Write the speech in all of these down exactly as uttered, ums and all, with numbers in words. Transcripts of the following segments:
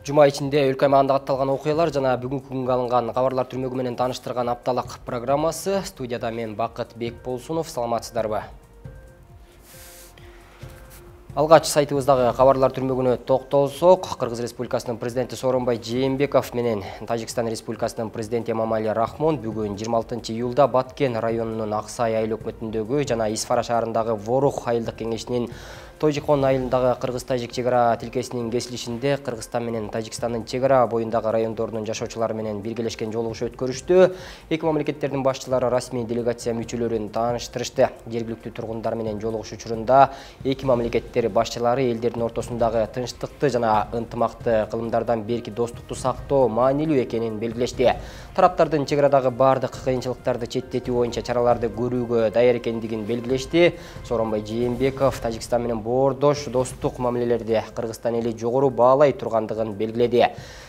Жума ичинде өлкө аймагында катталган окуялар жана бүгүнкү күнгө алынган кабарлар түрмөгү менен тааныштырган апталык программасы. Студияда мен Бакыт Бекболсунов. Саламатсыздарбы? Алгач сайтыбыздагы кабарлар түрмөгүнө токтолсок, Кыргыз Республикасынын президенти Сооронбай Жээнбеков менен Тажикстан Республикасынын президенти Эмомали Рахмон бүгүн жыйырма алтынчы июлда Баткен районунун Аксай айыл өкмөтүндөгү жана Исфара шаарындагы Ворух айылдык кеңешинин Тожикон айылындагы Кыргыз-Тажик чек ара тилкесинин кесилишинде Кыргызстан менен Тажикстандын чек ара боюндагы райондорунун жашоочулары менен биргелешкен жолугушуу өткөрүштү. Эки мамлекеттердин башчылары расмий делегация мүчөлөрүн тааныштырышты. Жергиликтүү тургундар менен жолугушуу учурунда эки мамлекеттер башчылары элдердин ортосундагы тынчтыкты жана ынтымакты кылымдардан берки достукту сактоо маанилүү экенин белгилешти. Тараптардын чек арадагы бардык кыйынчылыктарды четтетүү боюнча чараларды көрүүгө даяр экендигин белгилешти. Сооронбай Жээнбеков Тажикстан менен боордош достук мамилелерди Кыргызстан эли жогору баалай тургандыгын белгиледи.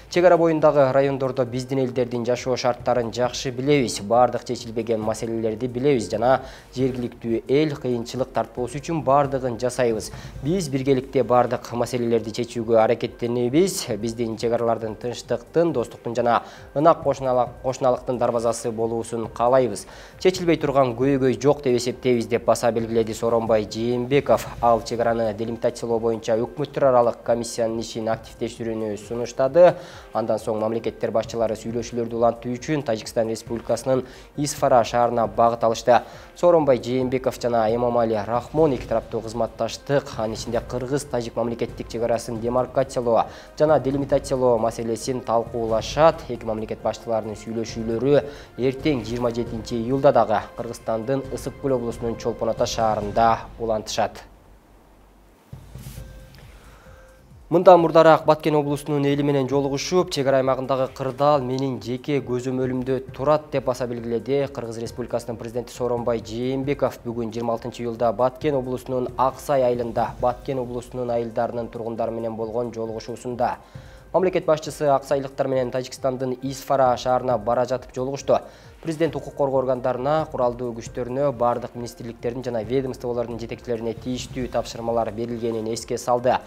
Чек ара боюндагы райондордо биздин элдердин жашоо шарттарын жакшы билебиз, бардык чечилбеген маселелерди билебиз жана жергиликтүү эл кыйынчылык тартпоосу үчүн бардыгын жасайбыз. Биз биргеликте бардык маселелерди чечүүгө аракеттенебиз. Биздин чек аралардын тынчтыктын, достуктун жана ынак кошуналыктын дарбазасы болуусун каалайбыз. Чечилбей турган көйгөй жок деп эсептейбиз деп баса белгиледи Сооронбай Жээнбеков. Ал чек араны делимитациялоо боюнча өкмөттөр аралык комиссиянын ишин активдештирүүнү сунуштады. Андан соң мамлекеттер башчылары сүйлөшүүлөрдү улантуу үчүн Тажикстан Республикасынын Исфара шаарына багыт алышты. Сооронбай Жээнбеков жана Эмомали Рахмон эки тараптуу кызматташтык, анын ичинде Кыргыз-Тажик мамлекеттик чек арасын демаркациялоо жана делимитациялоо маселесин талкуулашат. Эки мамлекет башчыларынын сүйлөшүүлөрү эртең жыйырма жетинчи июлда дагы Кыргызстандын Ысык Көл облусунун Чолпон Ата шаарында улантышат. Мындан мурдараак Баткен облусунун эли менен жолугушуп, чек ара аймагындагы кырдаал менин жеке көзөмөлүмдө турат деп баса белгиледи Кыргыз Республикасынын президенти Сооронбай Жээнбеков бүгүн жыйырма алтынчы июлда Баткен облусунун Аксай айылында Баткен облусунун айылдарынын тургундары менен болгон жолугушуусунда. Мамлекет башчысы аксайлыктар менен Тажикстандын Исфара шаарына бара жатып жолугушту. Президент укук коргоо органдарына, куралдуу күчтөрүнө, бардык министрликтердин жана ведомстволордун жетекчилерине тийиштүү тапшырмалар берилгенин эске салды.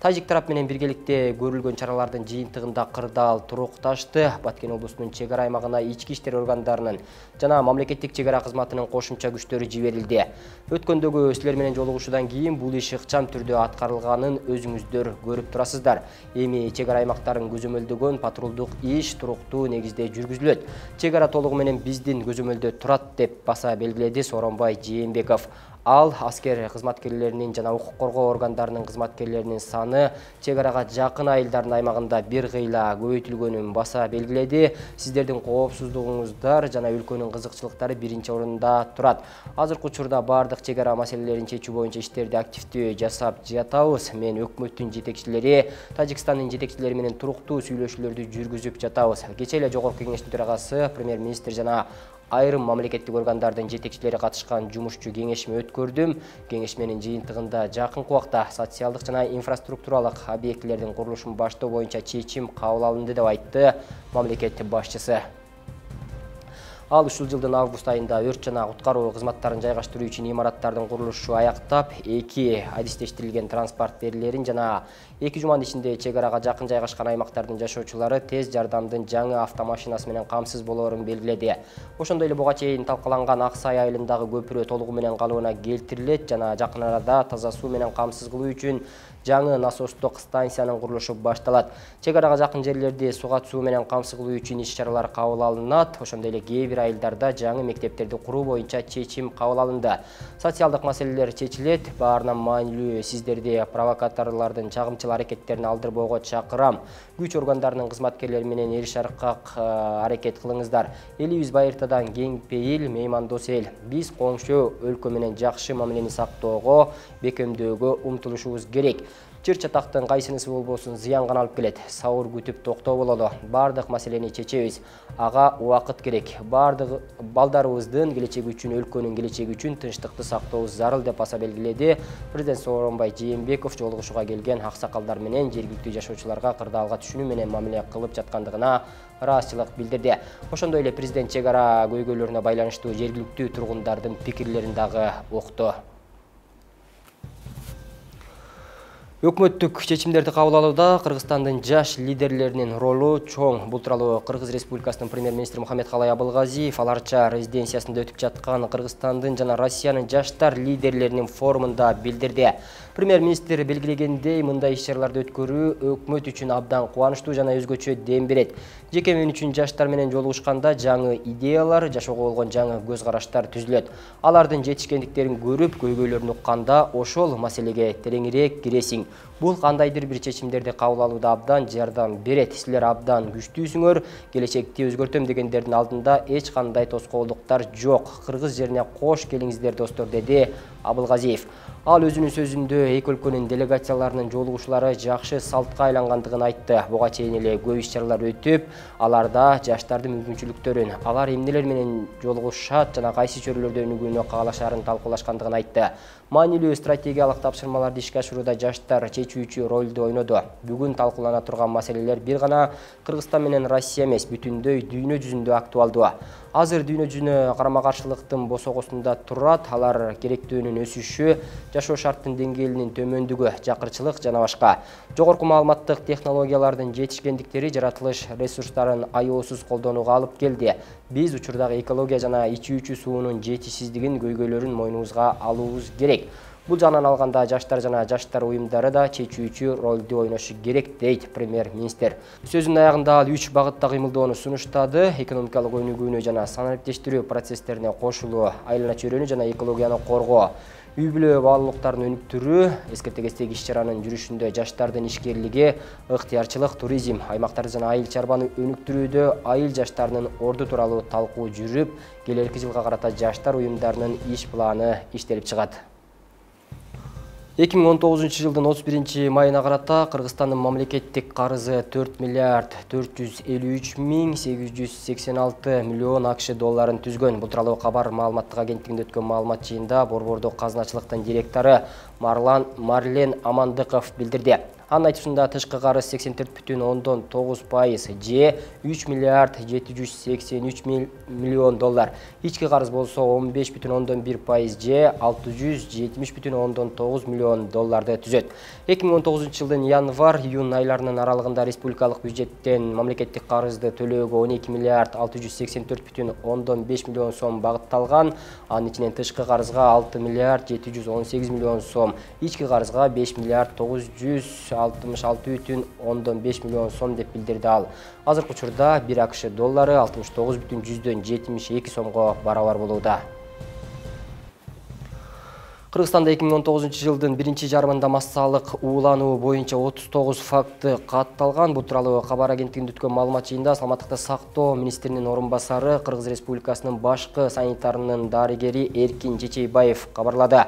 Тажик тарап менен биргеликте көрүлгөн чаралардын жыйынтыгында кырдаал турукташты. Баткен облусунун чек ара аймагына ички иштер органдарынын жана мамлекеттик чек ара кызматынын кошумча күчтөрү жиберилди. Өткөндөгү силер менен жолугушуудан кийин бул иш ыкчам түрдө аткарылганын өзүңүздөр көрүп турасыздар. Эми чек ара аймактарын көзөмөлдөгөн патрулдук иш туруктуу негизде жүргүзүлөт. Чек ара толугу менен биздин көзөмөлдө турат деп баса белгиледи Сооронбай Жээнбеков. Ал аскер кызматкерлеринин жана укук коргоо органдарынын кызматкерлеринин саны чек арага жакын айылдардын аймагында бир кыйла көбөйтүлгөнүн баса белгиледи. Сиздердин коопсуздугуңуздар жана өлкөнүн кызыкчылыктары биринчи орунда турат. Азыркы учурда бардык чек ара маселелерин чечүү боюнча иштерди активдүү жасап жатабыз. Мен өкмөттүн жетекчилери, Тажикстандын жетекчилери менен туруктуу сүйлөшүүлөрдү жүргүзүп жатабыз. Кечээ эле жогорку кеңештин төрагасы, премьер-министр жана айрым мамлекеттик органдардын жетекчилери катышкан жумушчу кеңешме өткөрдүм. Кеңешменин жыйынтыгында жакынкы убакта социалдык жана инфраструктуралык объектилердин курулушун баштоо боюнча чечим кабыл алынды деп айтты мамлекет башчысы. Ал ушул жылдын август айында өрт жана куткаруу кызматтарын жайгаштыруу үчүн имараттардын курулушу аяктап, эки адистештирилген транспорт берилерин жана эки жуманын ичинде чек арага жакын жайгашкан аймактардын жашоочулары тез жардамдын жаңы автомашинасы менен камсыз болоорун белгиледи. Ошондой эле буга чейин талкаланган Аксай айылындагы көпүрө толугу менен калыбына келтирилет жана жакын арада таза суу менен камсыз кылуу үчүн жаңы насостук станциянын курулушу башталат. Чек арага жакын жерлерди сугат суу менен камсыз кылуу үчүн иш-чаралар кабыл алынат. Ошондой эле кээ бир айылдарда жаңы мектептерди куруу боюнча чечим кабыл алынды. Социалдык маселелер чечилет. Баарынан маанилүү сиздерди провокаторлордун чагымчыл аракеттерин алдырбоого чакырам. Күч органдарынын кызматкерлери менен эриш аркак аракет кылыңыздар. Элибиз байыртадан кең пейил, меймандос эл. Биз коңшу өлкө менен жакшы мамилени сактоого, бекемдөөгө умтулушубуз керек. Чыр чатактын кайсынысы болбосун зыян гана алып келет. Сабыр күтүп токтоо бололу. Бардык маселени чечебиз. Ага убакыт керек. Бардык балдарыбыздын келечеги үчүн, өлкөнүн келечеги үчүн тынчтыкты сактообуз зарыл деп баса белгиледи президент Сооронбай Жээнбеков жолугушууга келген аксакалдар менен жергиликтүү жашоочуларга кырдаалга түшүнүү менен мамиле кылып жаткандыгына ыраазычылык билдирди. Ошондой эле президент чек ара көйгөйлөрүнө байланыштуу жергиликтүү тургундардын пикирлерин дагы укту. Өкмөттүк чечимдерди кабыл алууда Кыргызстандын жаш лидерлеринин ролу чоң. Бул тууралуу Кыргыз Республикасынын премьер-министри Мухаммедкалай Абылгазиев Аларча резиденциясында өтүп жаткан Кыргызстандын жана Россиянын жаштар лидерлеринин форумунда билдирди. Премьер-министр белгилегендей, мындай иш-чараларды өткөрүү өкмөт үчүн абдан кубанычтуу жана өзгөчө дем берет. Жеке мен үчүн жаштар менен жолугушканда жаңы идеялар, жашоого болгон жаңы көз караштар түзүлөт. Алардын жетишкендиктерин көрүп, көйгөйлөрүн укканда ошол маселеге тереңирээк киресиң. Бул кандайдыр бир чечимдерди кабыл алууда абдан жардам берет. Силер абдан күчтүүсүңөр, келечекти өзгөртөм дегендердин алдында эч кандай тоскоолдуктар жок. Кыргыз жерине кош келиңиздер достор, деди Абылгазиев. Ал өзүнүн сөзүндө эки өлкөнүн делегацияларынын жолугушуулары жакшы салтка айлангандыгын айтты. Буга чейин эле көп иш-чаралар өтүп, аларда жаштардын мүмкүнчүлүктөрүн, алар эмнелер менен жолугушат жана кайсы чөйрөлөрдө өнүгүүнү каалашарын талкуулашкандыгын айтты. Маанилүү стратегиялык тапшырмаларды ишке ашырууда жаштар чечүүчү ролду ойноду. Бүгүн талкуулана турган маселелер бир гана Кыргызстан менен Россия эмес, бүтүндөй дүйнө жүзүндө актуалдуу. Азыр дүйнө жүзүнө карама-каршылыктын босогосунда турат, алар керектөөнүн өсүшү, жашоо шарттын деңгээлинин төмөндүгү, жакырчылык жана башка. Жогорку маалыматтык технологиялардын жетишкендиктери жаратылыш ресурстарын аеосуз колдонууга алып келди. Биз учурдагы экология жана ичүүчү суунун жетишсиздигин, көйгөйлөрүн мойнубузга алуубуз керек. Бул жагынан алганда жаштар жана жаштар уюмдары да чечүүчү ролду ойношу керек, дейт премьер-министр. Сөзүнүн аягында ал үч багытта кыймылдоону сунуштады: экономикалык өнүгүүнү жана санариптештирүү процесстерине кошулуу, айлана чөйрөнү жана экологияны коргоо, үй-бүлө баалуулуктарын өнүктүрүү, эскерте-кестеги иш-чаранын жүрүшүндө жаштардын ишкерлиги, ыктыярчылык, туризм, аймактарды жана айыл чарбаны өнүктүрүүдө айыл жаштарынын орду тууралуу талкуу жүрүп, келерки жылга карата жаштар уюмдарынын иш планы иштелип чыгат. эки миң он тогузунчу жылдын отуз биринчи майына карата Кыргызстандын мамлекеттик карызы төрт миллиард төрт жүз элүү үч миң сегиз жүз сексен алты миллион акш долларын түзгөн. Бул тууралуу Кабар маалыматтык агенттигинде өткөн маалымат жыйынында Борбордук казначылыктын директору Марлан Марлен Амандыков билдирди. Анын айтуусунда тышкы карыз сексен төрт бүтүн ондон тогуз пайыз же үч миллиард жети жүз сексен үч миллион доллар. Ички карыз болсо он беш бүтүн ондон бир пайыз же алты жүз жетимиш бүтүн ондон тогуз миллион долларды түзөт. эки миң он тогузунчу жылдын январь-июнь айларынын аралыгында республикалык бюджеттен мамлекеттик карызды төлөөгө он эки миллиард алты жүз сексен төрт бүтүн ондон беш миллион сом багытталган. Анын ичинен тышкы карызга алты миллиард жети жүз он сегиз миллион сом, ички карызга беш миллиард тогуз жүз алтымыш алты бүтүн ондон беш миллион сом деп билдирди ал. Азыркы учурда бир акш доллары алтымыш тогуз бүтүн жүздөн жетимиш эки сомго барабар болууда. Кыргызстанда эки миң он тогузунчу жылдын биринчи жарымында массалык уулануу боюнча отуз тогуз факты катталган. Бул тууралуу Кабар агенттигинде өткөн маалымат жыйынында саламаттыкты сактоо министринин орун басары, Кыргыз Республикасынын башкы санитарынын дарыгери Эркин Чечейбаев кабарлады.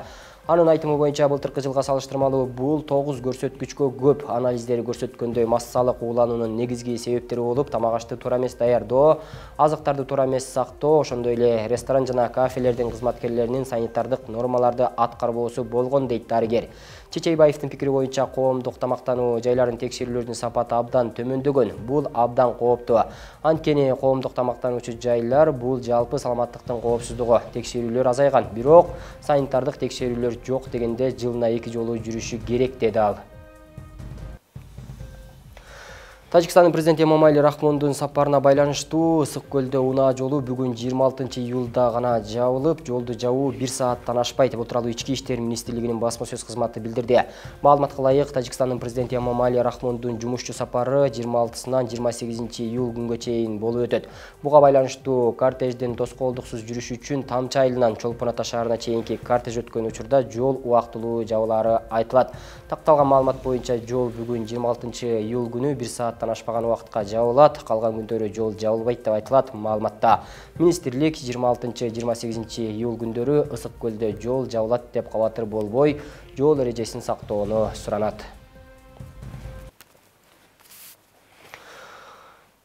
Анын айтымы боюнча былтыркы жылга салыштырмалуу бул тогуз көрсөткүчкө көп. Анализдери көрсөткөндөй, массалык уулануунун негизги себептери болуп, тамак ашты туура эмес даярдоо, азыктарды туура эмес сактоо, ошондой эле ресторан жана кафелердин кызматкерлеринин санитардык нормаларды аткарбоосу болгон, дейт дарыгер. Чечейбаевдин пикири боюнча, коомдук тамактануу жайларын текшерүүлөрдүн сапаты абдан төмөндөгөн. Бул абдан кооптуу. Анткени коомдук тамактануучу жайлар бул жалпы саламаттыктын коопсуздугу. Текшерүүлөр азайган, бирок санитардык текшерүүлөр жок дегенде жылына эки жолу жүрүшү керек, деди ал. Тажикстандын президенти Эмомали Рахмондун сапарына байланыштуу Ысык көлдө унаа жолу бүгүн жыйырма алтынчы июлда гана жабылып, жолду жабуу бир сааттан ашпайт. Бул тууралуу Ички иштер министрлигинин басма сөз кызматы билдирди. Маалыматка ылайык, Тажикстандын президенти Эмомали Рахмондун жумушчу сапары жыйырма алтысынан жыйырма сегизинчи июль күнгө чейин болуп өтөт. Буга байланыштуу кортеждин тоскоолдуксуз жүрүшү үчүн Тамчы айылынан Чолпон Ата шаарына чейинки кортеж өткөн учурда жол убактылуу жабылаары айтылат. Такталган маалымат боюнча жол бүгүн жыйырма алтынчы июль күнү бир сааттан ашпаган убакытка жабылат. Калган күндөрү жол жабылбайт деп айтылат маалыматта. Министрлик жыйырма алтынчы жыйырма сегизинчи июль күндөрү Ысык көлдө жол жабылат деп кабатыр болбой, жол эрежесин сактоону суранат.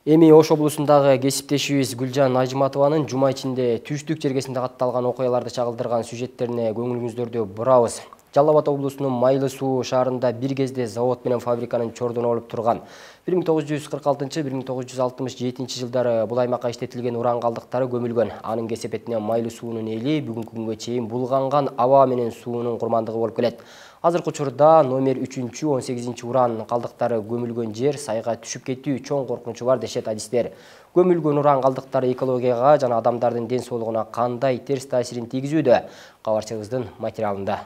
Эми Ош облусундагы кесиптешибиз Гүлжан Ажматованын жума ичинде Түштүк жергесинде катталган окуяларды чагылдырган сюжеттерине көңүлүңүздөрдү бурабыз. Жалал Абад облусунун Майлы суу шаарында бир кезде завод менен фабриканын чордуна болуп турган. бир миң тогуз жүз кырк алтынчы — бир миң тогуз жүз алтымыш жетинчи жылдары бул аймакка иштетилген уран калдыктары көмүлгөн. Анын кесепетинен Майлы суунун эли бүгүнкү күнгө чейин булганган аба менен суунун курмандыгы болуп келет. Азыркы учурда номер үчүнчү он сегизинчи уран калдыктары көмүлгөн жер сайга түшүп кетүү чоң коркунучу бар дешет адистер. Көмүлгөн уран калдыктары экологияга жана адамдардын ден соолугуна кандай терс таасирин тийгизүүдө? Кабарчыбыздын материалында.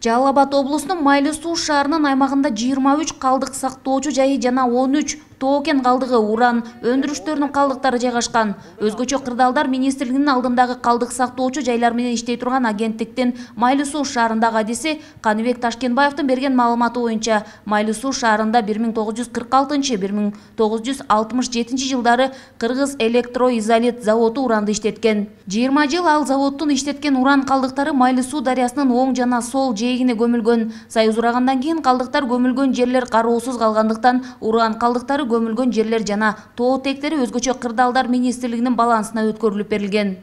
Жалал Абад облусунун Майлы суу шаарынын аймагында жыйырма үч калдык сактоочу жайы жана он үч токен калдыгы, уран өндүрүштөрүнүн калдыктары жайгашкан. Өзгөчө Кырдаалдар министрлигинин алдындагы калдык сактоочу жайлар менен иштей турган агенттиктин Майлы суу шаарындагы адиси Каныбек Ташкенбаевдин берген маалыматы боюнча, Майлы суу шаарында бир миң тогуз жүз кырк алтынчы — бир миң тогуз жүз алтымыш жетинчи жылдары Кыргыз электроизолит заводу уранды иштеткен. жыйырма жыл ал заводдун иштеткен уран калдыктары Майлы суу дарыясынын оң жана сол жээгине көмүлгөн. Союз урагандан кийин калдыктар көмүлгөн жерлер кароосуз калгандыктан уран калдыктары көмүлгөн жерлер жана тоо тектери өзгөчө Кырдаалдар министрлигинин балансына өткөрүлүп берилген.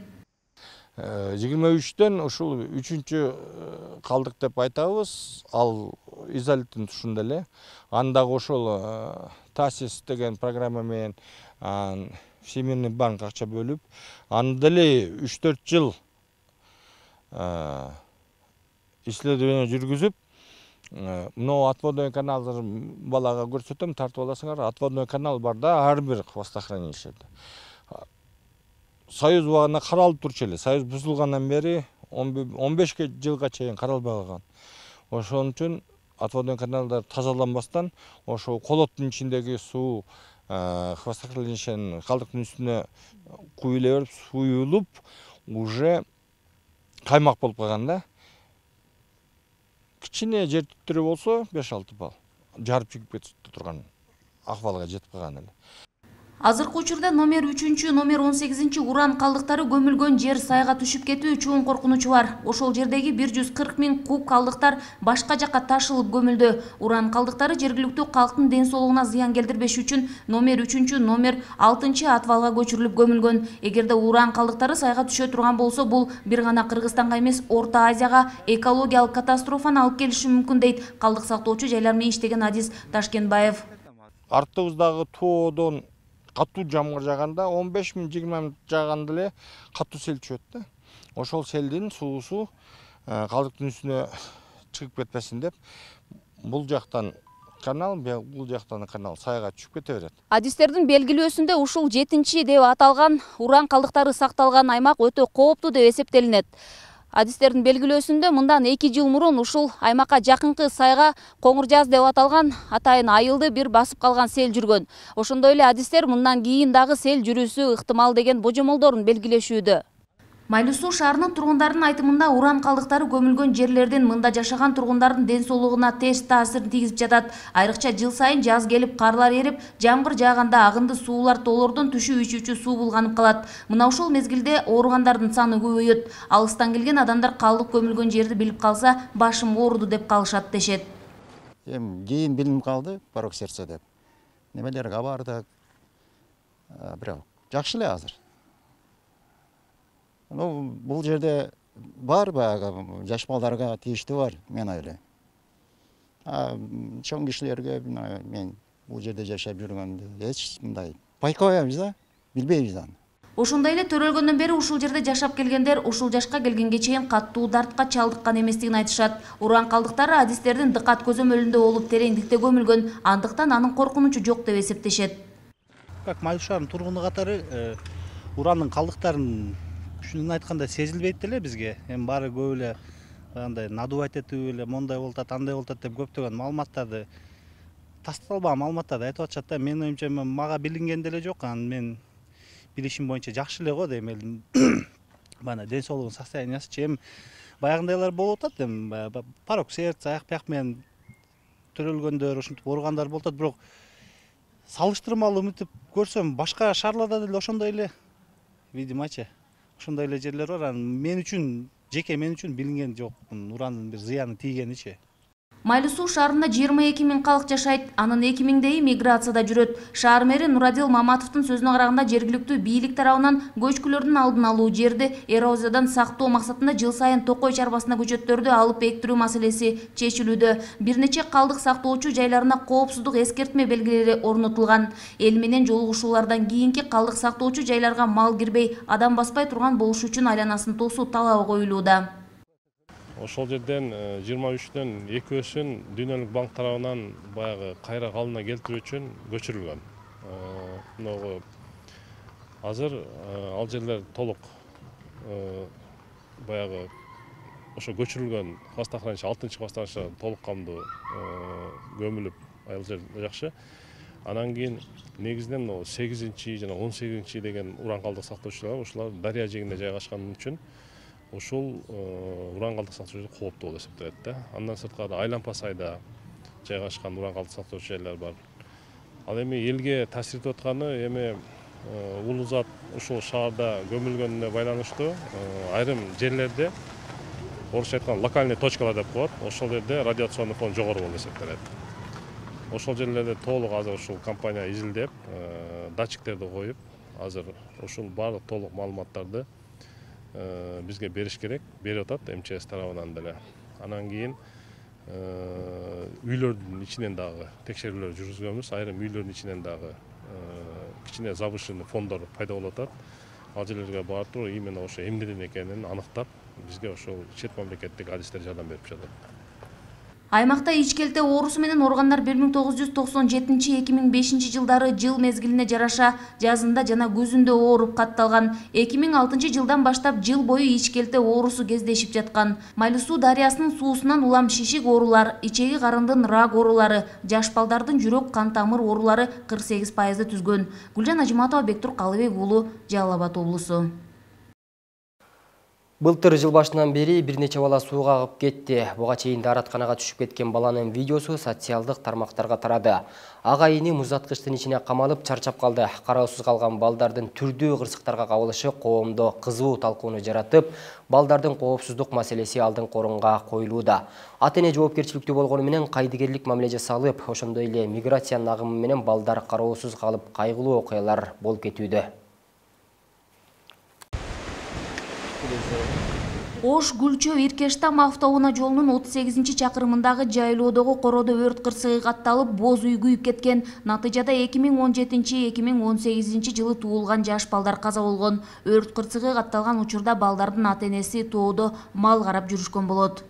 жыйырма үчтөн ушул үчүнчү калдык деп айтабыз. Ал изолиттин тушунда эле. Андагы ошол ТАСИС деген программа менен Всемирный банк акча бөлүп, анда деле үч төрт жыл исследование жүргүзүп, мына отводной каналды балага көрсөтөм, тартып аласыңар. Отводной канал бар да, ар бир хвостохранилищеде. Союз убагында каралып турчу эле. Союз бузулгандан бери он беш жылга чейин каралбай калган. Ошон үчүн отводной каналдар тазаланбастан ошо колоттун ичиндеги суу хвостохранилищенин калдыктын үстүнө куюлай берип, суюлуп, уже каймак болуп калган да. Кичине жер түттүрү болсо беш алты балл жарып чыгып кетип турган акыбалга жетип калган эле. Азыркы учурда номер үчүнчү, номер он сегизинчи уран калдыктары көмүлгөн жер сайга түшүп кетүү чоң коркунучу бар. Ошол жердеги бир жүз кырк миң куб калдыктар башка жакка ташылып көмүлдү. Уран калдыктары жергиликтүү калктын ден соолугуна зыян келтирбеш үчүн номер үчүнчү, номер алтынчы атвалга көчүрүлүп көмүлгөн. Эгерде уран калдыктары сайга түшө турган болсо, бул бир гана Кыргызстанга эмес, Орто Азияга экологиялык катастрофаны алып келиши мүмкүн дейт калдык сактоочу жайлар менен иштеген адис Ташкенбаев. Артыбыздагы тоодон катуу жамгыр жааганда он беш миң жыйырма минут жааганда эле катуу сел түшөт да. Ошол селдин суусу калдыктын үстүнө чыгып кетпесин деп бул жактан канал, бул жактан канал сайга түшүп кете берет. Адистердин белгилөөсүндө ушул жетинчи деп аталган уран калдыктары сакталган аймак өтө кооптуу деп эсептелинет. Адистердин белгилөөсүндө мындан эки жыл мурун ушул аймакка жакынкы сайга Коңур Жаз деп аталган атайын айылды бир басып калган сел жүргөн. Ошондой эле адистер мындан кийин дагы сел жүрүүсү ыктымал деген божомолдорун белгилешүүдө. Майлы суу шаарынын тургундарынын айтымында уран калдыктары көмүлгөн жерлердин мында жашаган тургундардын ден соолугуна терс таасирин тийгизип жатат. Айрыкча жыл сайын жаз келип, карлар эрип, жамгыр жааганда агынды суулар тоолордон түшүп ичүүчү суу булганып калат. Мына ушул мезгилде ооругандардын саны көбөйөт. Алыстан келген адамдар калдык көмүлгөн жерди билип калса, башым ооруду деп калышат дешет. Эми кийин билинип калды, порок сердца деп. Немелерге бардык. Бирок жакшы эле азыр. Ну, бул жерде бар баягы жаш балдарга тийиштүү бар, мен ойлойм. А чоң кишилерге мен бул жерде жашап жүргөндө эч мындай байкабайбыз да, билбейбиз аны. Ошондой эле төрөлгөндөн бери ушул жерде жашап келгендер ушул жашка келгенге чейин каттуу дартка чалдыккан эместигин айтышат. Уран калдыктары адистердин дыкат көзөмөлүндө болуп тереңдикте көмүлгөн, андыктан анын коркунучу жок деп эсептешет. Как Майлы шаарынын тургуну катары уранын калдыктарын шунун айтканда сезилбейт деле бизге. Эми баары көп эле андай надувать этип эле мондай болуп атат, андай болуп атат деп көптөгөн маалыматтарды, тасталбаган маалыматтарды айтып атышат да. Менин оюмча мага билинген деле жок. Анан мен билишим боюнча жакшы эле го дейм элдин. Бана ден соолугунун состояниясы чем баягындайлар болуп атат. Эми порок сердца, аяк бияк менен төрөлгөндөр, ушинтип ооругандар болуп атат. Бирок салыштырмалуу мынтип көрсөм, башка шаарларда деле ошондой эле, видимочи. Ошондой эле жерлер бар. Мен үчүн, жеке мен үчүн билинген жок урандын бир зыяны тийгеничи. Майлуу суу шаарында жыйырма эки миң калк жашайт, анын эки миңдейи миграцияда жүрөт. Шаар мэри Нурадил Маматовдун сөзүнө караганда жергиликтүү бийлик тарабынан көчкүлөрдүн алдын алуу, жерди эрозиядан сактоо максатында жыл сайын Токой чарбасына көчөттөрдү алып эктирүү маселеси чечилүүдө. Бир нече калдык сактоочу жайларына коопсуздук эскертме белгилери орнотулган. Эл менен жолугушуулардан кийинки калдык сактоочу жайларга мал кирбей, адам баспай турган болуш үчүн айланасын тосуу талабы коюлууда. Ошол жерден жыйырма үчтөн экөөсүн Дүйнөлүк банк тарабынан баягы кайра калыбына келтирүү үчүн көчүрүлгөн. Мынагы азыр ал жерлер толук баягы ошо көчүрүлгөн хвостохранилище алтынчы хвостохранилище толук камдуу көмүлүп ал жер жакшы. Анан кийин негизинен сегизинчи жана он сегизинчи деген уран калдык сактоочулар ушулар дарыя жээгинде жайгашкан үчүн ушул уран калдык сактоочу кооптуу болуп эсептелет да. Андан сырткары Айлампа сайда жайгашкан уран калдык сактоочу жайлар бар. Ал эми элге таасир этип атканы эми улуу зат ушул шаарда көмүлгөнүнө байланыштуу айрым жерлерде орусча айтканда локальный точкалар деп коет. Ошол жерде радиационный фон жогору болуп эсептелет. Ошол жерлерде толук азыр ушул компания изилдеп, датчиктерди коюп, азыр ушул баардык толук маалыматтарды бизге бериш керек, берип атат эм че эс тарабынан деле. Анан кийин үйлөрдүн ичинен дагы текшерүүлөр жүргүзгөнбүз. Айрым үйлөрдүн ичинен дагы кичине завышенный фондор пайда болуп атат. Ал жерлерге барып туруп именно ошо эмнеден экенин аныктап, бизге ошол чет мамлекеттик адистер жардам берип жатат. Аймакта ичкелте оорусу менен ооругандар бир миң тогуз жүз токсон жетинчи — эки миң бешинчи жылдары жыл мезгилине жараша жазында жана күзүндө ооруп катталган. эки миң алтынчы жылдан баштап жыл бою ичкелте оорусу кездешип жаткан. Майлуу суу дарыясынын суусунан улам шишик оорулар, ичеги карындын рак оорулары, жаш балдардын жүрөк кан тамыр оорулары кырк сегиз пайызды түзгөн. Гүлжан Ажыматова, Бектур Калыбек уулу, Жалал Абад облусу. Былтыр жыл башынан бери бир нече бала сууга агып кетти. Буга чейин дааратканага түшүп кеткен баланын видеосу социалдык тармактарга тарады. Агайыны музаткычтын ичине камалып чарчап калды. Кароосуз калган балдардын түрдүү кырсыктарга кабылышы коомдо кызуу талкууну жаратып, балдардын коопсуздук маселеси алдыңкы орунга коюлууда. Ата-эне жоопкерчиликтүү болгону менен кайдыгерлик мамиле жасалып, ошондой эле миграциянын агымы менен балдар кароосуз калып кайгылуу окуялар болуп кетүүдө. Ош Гүлчө Иркештам автоунаа жолунун отуз сегизинчи чакырымындагы жайлоодогу короодо өрт кырсыгы катталып, боз үй күйүп кеткен. Натыйжада эки миң он жетинчи — эки миң он сегизинчи жылы туулган жаш балдар каза болгон. Өрт кырсыгы катталган учурда балдардын ата-энеси тоодо мал карап жүрүшкөн болот.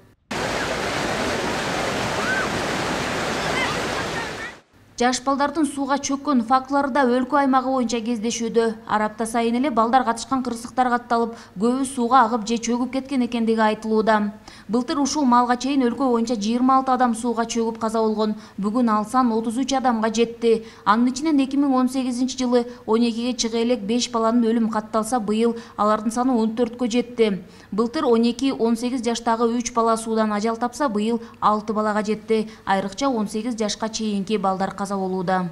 Жаш балдардын сууга чөккөн фактылары да өлкө аймагы боюнча кездешүүдө. Ар апта сайын эле балдар катышкан кырсыктар катталып, көбү сууга агып же чөгүп кеткен экендиги айтылууда. Былтыр ушул малга чейин өлкө боюнча жыйырма алты адам сууга чөгүп каза болгон. Бүгүн ал сан отуз үч адамга жетти. Анын ичинен эки миң он сегизинчи жылы он экиге чыга элек беш баланын өлүмү катталса, быйыл алардын саны он төрткө жетти. Былтыр он эки — он сегиз жаштагы үч бала суудан ажал тапса, быйыл алты балага жетти. Айрыкча он сегиз жашка чейинки балдар каза болууда.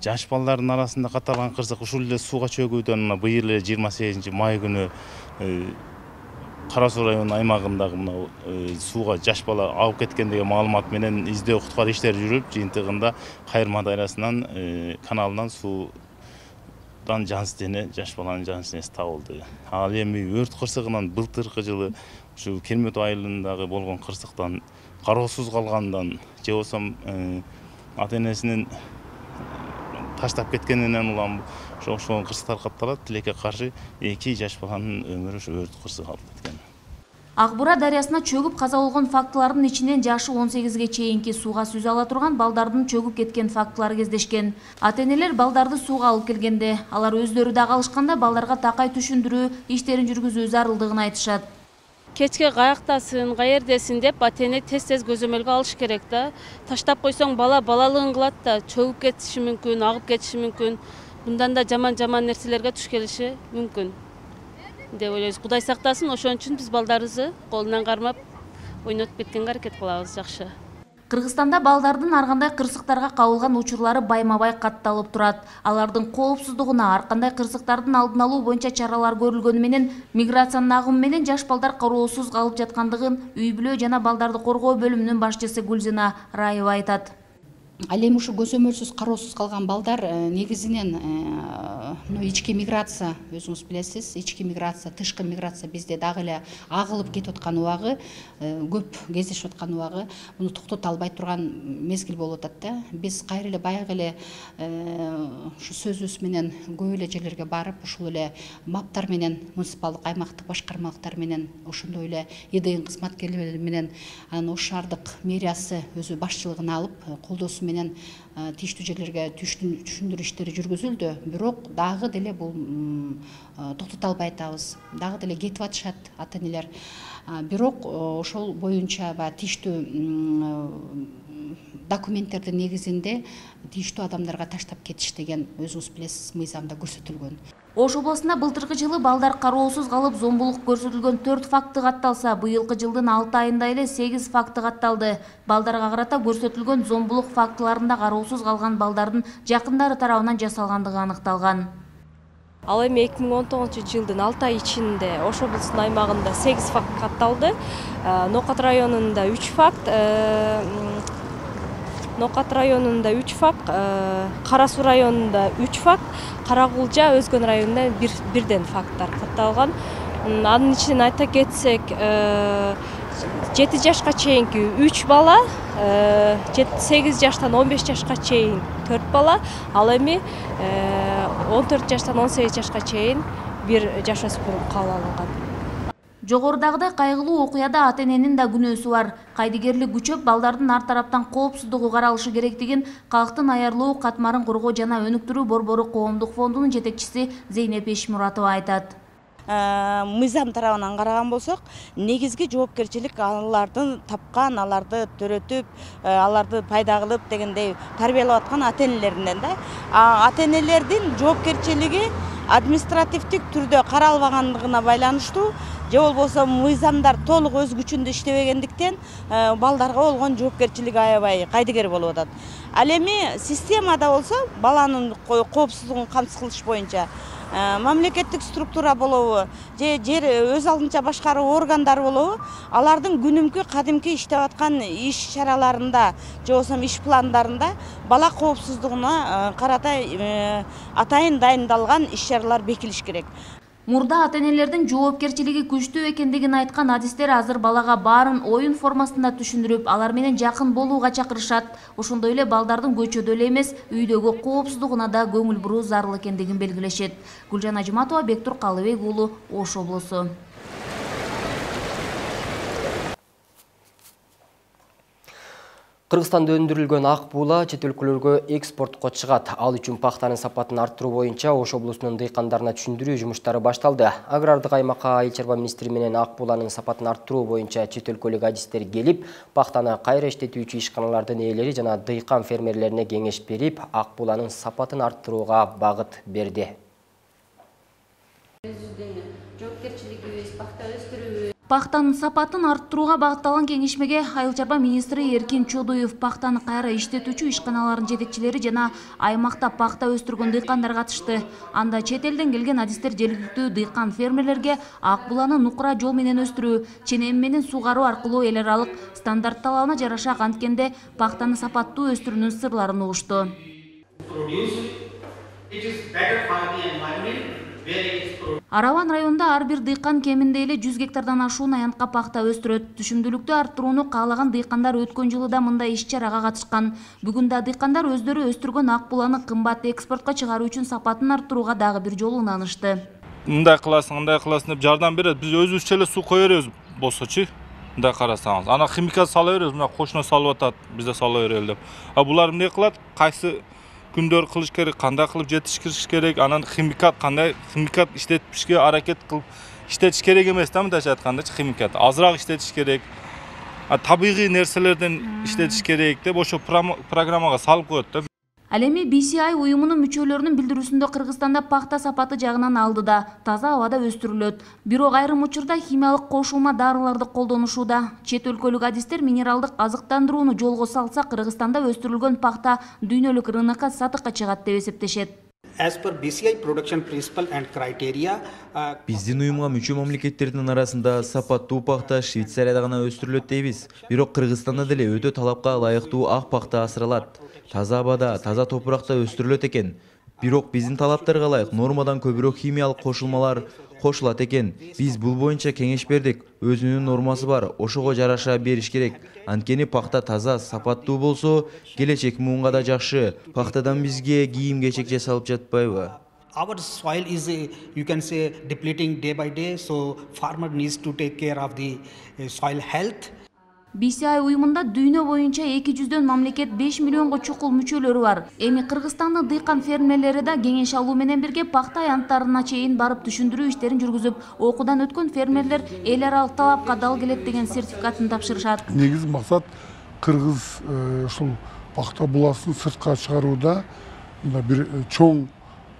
Жаш балдардын арасында катталган кырсык ушул эле сууга чөгүүдөн быйыл эле жыйырма сегизинчи май күнү Кара Суу районунун аймагындагы мына сууга жаш бала агып кеткен деген маалымат менен издөө куткаруу иштери жүрүп, жыйынтыгында Кайырма дарыясынан каналынан суудан жансыз дене, жаш баланын жансыз денеси табылды. Ал эми өрт кырсыгынан былтыркы жылы ушу Кермет айылындагы болгон кырсыктан кароосуз калгандан же болбосо ата-энесинин таштап кеткенинен улам ошол кырсыктар катталат. Тилекке каршы эки жаш баланын өмүрү ошо өрт кырсыгы алып кеткен. Акбура дарыясына чөгүп каза болгон фактылардын ичинен жашы он сегизге чейинки сууга сүзө ала турган балдардын чөгүп кеткен фактылары кездешкен. Ата-энелер балдарды сууга алып келгенде, алар өздөрү да калышканда балдарга такай түшүндүрүү иштерин жүргүзүү зарылдыгын айтышат. Кечке каяктасын, каердесин деп ата-эне тез-тез көзөмөлгө алыш керек да. Таштап койсоң бала балалыгын кылат да, чөгүп кетиши мүмкүн, агып кетиши мүмкүн. Мындан да жаман-жаман нерселерге туш келиши мүмкүн деп ойлойбуз. Кудай сактасын, ошон үчүн биз балдарыбызды колунан кармап, ойнотуп кеткенге аракет кылабыз. Жакшы. Кыргызстанда балдардын ар кандай кырсыктарга кабылган учурлары байма-бай катталып турат. Алардын коопсуздугуна, ар кандай кырсыктардын алдын алуу боюнча чаралар көрүлгөнү менен миграциянын агымы менен жаш балдар кароосуз калып жаткандыгын үй бүлө жана балдарды коргоо бөлүмүнүн башчысы Гүлзина Раева айтат. Ал эми ушу көзөмөлсүз кароосуз калган балдар негизинен ички миграция, өзүңүз билесиз, ички миграция, тышкы миграция бизде дагы эле агылып кетип аткан убагы, көп кездешип аткан убагы, муну токтото албай турган мезгил болуп атат да. Биз кайра эле баягы эле ушу сөзүбүз менен көп эле жерлерге барып, ушул эле маптар менен, муниципалдык аймактык башкармалыктар менен, ошондой эле ИДИН кызматкерлери менен, анан ош шаардык мэриясы өзү башчылыгын алып, колдоосу менен тийиштүү жерлерге түшүндүрүү иштери жүргүзүлдү. Бирок дагы деле бул токтото албай атабыз. Дагы деле кетип атышат ата-энелер. Бирок ошол боюнча тийиштүү документтердин негизинде тийиштүү адамдарга таштап кетиш деген өзүңүз билесиз, мыйзамда көрсөтүлгөн. Ош облусунда былтыркы жылы балдар кароосуз калып зомбулук көрсөтүлгөн төрт факты катталса, быйылкы жылдын алты айында эле сегиз факты катталды. Балдарга карата көрсөтүлгөн зомбулук фактыларында кароосуз калган балдардын жакындары тарабынан жасалгандыгы аныкталган. Ал эми эки миң он тогузунчу жылдын алты ай ичинде Ош облусунун аймагында сегиз факт катталды. Нокат районунда үч факт, Нокат районунда үч факт, Кара Суу районунда үч факт, Каракулжа Өзгөн районунда бирден факттар катталган. Анын ичинен айта кетсек, жети жашка чейинки үч бала, сегиз жаштан он беш жашка чейин төрт бала, ал эми он төрт жаштан он сегиз жашка чейин бир жаш өспүрүм кабыл алынган. Жогорудагыдай кайгылуу окуяда ата-эненин да күнөөсү бар. Кайдыгерлик күчөп, балдардын ар тараптан коопсуздугу каралышы керектигин Калктын аярлоо катмарын коргоо жана өнүктүрүү борбору коомдук фондунун жетекчиси Зейнеп Эшмуратова айтат. Мыйзам тарабынан караган болсок, негизги жоопкерчилик алардын тапкан, аларды төрөтүп, аларды пайда кылып дегендей тарбиялап аткан ата-энелеринен да. Ата-энелердин жоопкерчилиги административдик түрдө каралбагандыгына байланыштуу, же болбосо мыйзамдар толук өз күчүндө иштебегендиктен балдарга болгон жоопкерчилик аябай кайдыгер болуп атат. Ал эми системада болсо баланын коопсуздугун камсыз кылыш боюнча мамлекеттик структура болобу, же жер өз алдынча башкаруу органдары болобу, алардын күнүмкү кадимки иштеп аткан иш чараларында, же болбосо иш пландарында бала коопсуздугуна карата атайын дайындалган иш чаралар бекилиш керек. Мурда ата-энелердин жоопкерчилиги күчтүү экендигин айткан адистер азыр балага баарын оюн формасында түшүндүрүп, алар менен жакын болууга чакырышат. Ошондой эле балдардын көчөдө эле эмес, үйдөгү коопсуздугуна да көңүл буруу зарыл экендигин белгилешет. Гүлжан Ажыматова, Бектур Калыбек уулу, Ош облусу. Кыргызстанда өндүрүлгөн ак буула чет өлкөлөргө экспортко чыгат. Ал үчүн пахтанын сапатын арттыруу боюнча Ош облусунун дыйкандарына түшүндүрүү жумуштары башталды. Агрардык аймакка айыл чарба министри менен ак бууланын сапатын арттыруу боюнча чет өлкөлүк адистер келип, пахтаны кайра иштетүүчү ишканалардын ээлери жана дыйкан фермерлерине кеңеш берип, ак бууланын сапатын арттырууга багыт берди. Пахтанын сапатын арттырууга багытталган кеңешмеге айыл чарба министри Эркин Чодуев, пахтаны кайра иштетүүчү ишканалардын жетекчилери жана аймакта пахта өстүргөн дыйкандар катышты. Анда чет элден келген адистер жергиликтүү дыйкан фермерлерге ак бууланы нукура жол менен өстүрүү, ченем менен суугаруу аркылуу эл аралык стандарт талабына жараша канткенде пахтаны сапаттуу өстүрүүнүн сырларын угушту. Араван районунда ар бир дыйкан кеминде эле жүз гектардан ашуун аянтка пахта өстүрөт. Түшүмдүүлүктү арттырууну каалаган дыйкандар өткөн жылы да мындай иш-чарага катышкан. Бүгүн да дыйкандар өздөрү өстүргөн ак бууланы кымбат экспортко чыгаруу үчүн сапатын арттырууга дагы бир жолу унанышты. Мындай кыласың, мындай кыласың деп жардам берет. Биз өзүбүзчө эле суу кое беребиз болсочу. Мындай карасаңыз, ана химикат сала беребиз, мына кошуна салып атат, биз да сала берели деп. А булар эмне кылат? Кайсы күндөр кылыш керек, кандай кылып жетишкириш керек, анан химикат кандай химикат иштетишке аракет кылып иштетиш керек эмес да, мындайча айткандачы, химикат азыраак иштетиш керек. А табигый нерселерден иштетиш керек деп ошо программага салып коет да. Ал эми би си ай уюмунун мүчөлөрүнүн билдирүүсүндө Кыргызстанда пахта сапаты жагынан алдыда, таза абада өстүрүлөт. Бирок айрым учурда химиялык кошулма дарыларды колдонушууда. Чет өлкөлүк адистер минералдык азыктандырууну жолго салса, Кыргызстанда өстүрүлгөн пахта дүйнөлүк рынокко сатыкка чыгат деп эсептешет. Биздин уюмга мүчө мамлекеттердин арасында сапаттуу пахта Швейцарияда гана өстүрүлөт дейбиз. Бирок Кыргызстанда деле өтө талапка ылайыктуу ак пахта асыралат. Таза абада, таза топуракта өстүрүлөт экен. Бирок биздин талаптарга ылайык нормадан көбүрөөк химиялык кошулмалар кошулат экен. Биз бул боюнча кеңеш бердик. Өзүнүн нормасы бар, ошого жараша бериш керек. Анткени пахта таза, сапаттуу болсо, келечек муунга да жакшы. Пахтадан бизге кийим-кечек жасалып жатпайбы? Our soil is, you can say, depleting day by day, so farmer needs to take care of the soil health. би си ай уюмунда дүйнө боюнча эки жүздөн мамлекет беш миллионго чукул мүчөлөрү бар. Эми Кыргызстандын дыйкан фермерлери да кеңеш алуу менен бирге пахта аянттарына чейин барып түшүндүрүү иштерин жүргүзүп, окуудан өткөн фермерлер эл аралык талапка дал келет деген сертификатын тапшырышат. Негизи максат Кыргыз ушул пахта буласын сыртка чыгарууда мындай бир чоң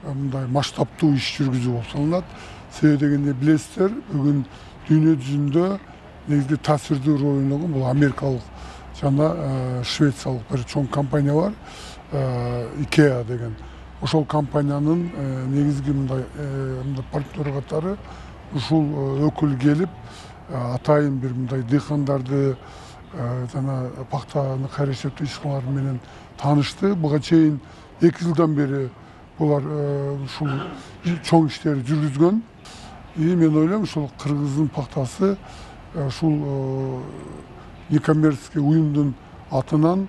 мындай масштабтуу иш жүргүзүү болуп саналат. Себеби дегенде билесиздер, бүгүн дүйнө жүзүндө негизги таасирдүү роль ойногон бул америкалык жана швециялык бир чоң компания бар, Ikea деген. Ошол компаниянын негизги мындай партнер катары ушул өкүл келип, атайын бир мындай дыйкандарды жана пахтаны кайрылтуу ишканалары менен таанышты. Буга чейин эки жылдан бери булар ушул чоң иштерди жүргүзгөн. И мен ойлойм, ушул Кыргыздын пахтасы ушул некоммерческий уюмдун атынан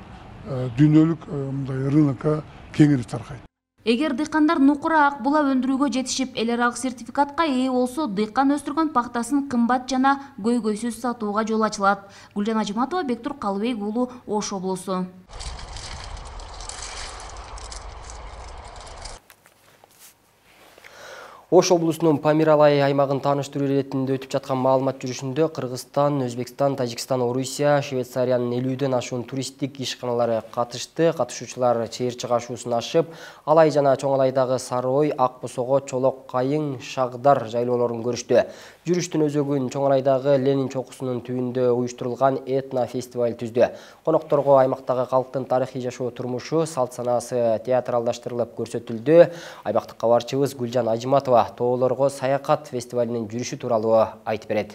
дүйнөлүк мындай рынокко кеңири таркайт. Эгер дыйкандар нукура ак була өндүрүүгө жетишип, эл аралык сертификатка ээ болсо, дыйкан өстүргөн пахтасын кымбат жана көйгөйсүз сатууга жол ачылат. Гүлжан Ажыматова, Бектур Калыбек уулу, Ош облусу. Ош облусунун Памиралай аймагын тааныштыруу иретинде өтүп жаткан маалымат жүрүшүндө Кыргызстан, Өзбекстан, Тажикстан, Орусия, Швейцариянын элүүдөн ашуун туристтик ишканалары катышты. Катышуучулар чыйыр чыгашуусун ашып, Алай жана Чоң Алайдагы Сары Ой, Ак Босого, Чолок Кайың, Шагдар жайлоолорун көрүштү. Жүрүштүн өзөгүн Чоң Алайдагы Ленин чокусунун түбүндө уюштурулган этно фестиваль түздү. Конокторго аймактагы калктын тарыхый жашоо турмушу, салт санаасы театралдаштырылып көрсөтүлдү. Аймактык кабарчыбыз Гүлжан Ажыматова тоолорго саякат фестивалинин жүрүшү тууралуу айтып берет.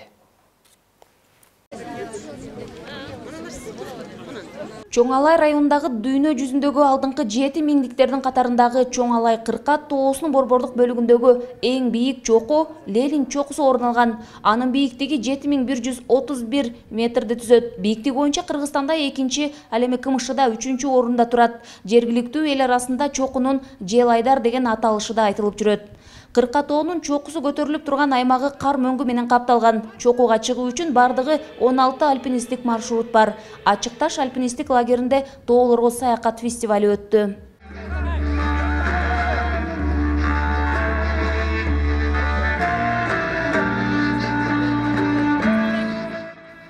Чоң Алай районундагы дүйнө жүзүндөгү алдыңкы жети миңдиктердин катарындагы Чоң Алай Кыркат тоосунун борбордук бөлүгүндөгү эң бийик чоку Ленин чокусу орун алган. Анын бийиктиги жети миң бир жүз отуз бир метрди түзөт. Бийиктик боюнча Кыргызстанда экинчи, ал эми КМШда үчүнчү орунда турат. Жергиликтүү эл арасында чокунун Желайдар деген аталышы да айтылып жүрөт. Кыркатоонун чокусу көтөрүлүп турган аймагы кар мөңгү менен капталган. Чокуга чыгуу үчүн бардыгы он алты альпинисттик маршрут бар. Ачык таш альпинисттик лагеринде тоолорго саякат фестивали өттү.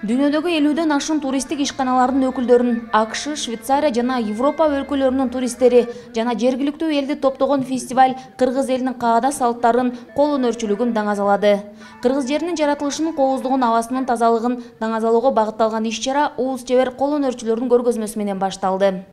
Дүйнөдөгү элүүдөн ашуун туристтик ишканалардын өкүлдөрүн АКШ, Швейцария жана Европа өлкөлөрүнүн туристтери жана жергиликтүү элди топтогон фестиваль кыргыз элинин каада салттарын, кол өнөрчүлүгүн даңазалады. Кыргыз жеринин жаратылышынын кооздугун, абасынын тазалыгын даңазалоого багытталган иш-чара уус чебер кол өнөрчүлөрдүн көргөзмөсү менен башталды.